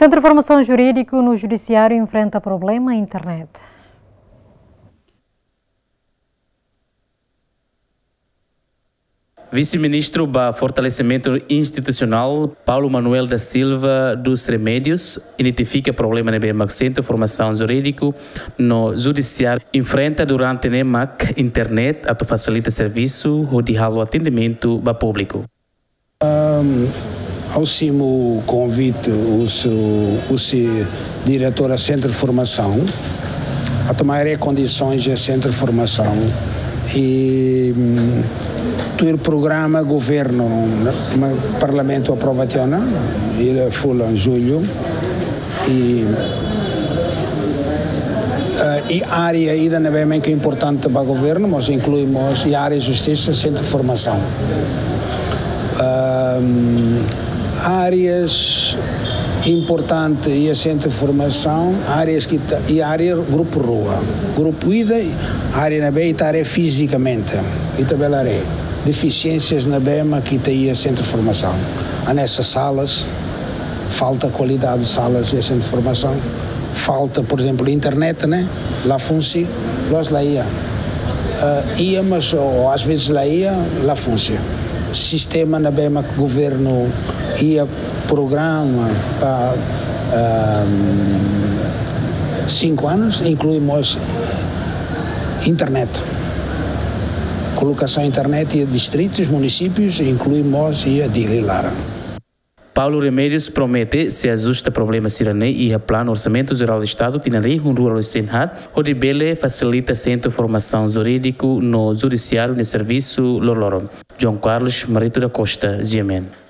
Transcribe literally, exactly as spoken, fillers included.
Sentru Formasaun Jurídiku no Judisiáriu enfrenta problema internet. Vise-Ministru ba Fortalesimentu Institusionál, Paulo Manuel da Silva dos Remédios, identifika problema ne'ebé mak Sentru Formasaun Jurídiku no Judisiáriu enfrenta durante ne'e mak internet atu fasilita servisu hodi halo atendimentu ba públiku. Ha'u simu konvite husi, husi diretora Sentru Formasaun atu mai haree kondisoens iha Sentru Formasaun. I, mm, tuir programa governu, ne'e, Parlamentu aprova tiha ona, iha fulan Jullu. I, eh, i área ida ne'ebé mak importante ba governu, mas inklui mós, i área justisa, Sentru Formasaun. Ehm, áreas importante iha Sentru Formasaun, áreas ke ita, i área grupu rua. Grupu ida, área ne'ebé ita haree fizikamente, ita bele haree defisiénsias ne'ebé mak ita iha Sentru Formasaun. Hanesan salas, falta kualidade salas iha Sentru Formasaun. Falta, por ezemplu, internet, ne'e la funsi, loos la iha. Eh, iha, mas, ou, às vezes la iha, la funsi. Sistema ne'ebé mak governu iha programa ba, ehm, cinco anos, inklui mós internet. Kolokasaun internet iha distritus, munisípius, inklui mós iha Dili laran. Paulo Remédios promete sei ajusta problema sira-ne'e iha Planu Orsamentu Jerál Estadu tinan rihun rua ruanulu-resin-haat, hodi bele fasilita Sentru Formasaun Jurídiku no Judisiáriu nia servisu loroloron. João Carlos Marito da Costa, G M N.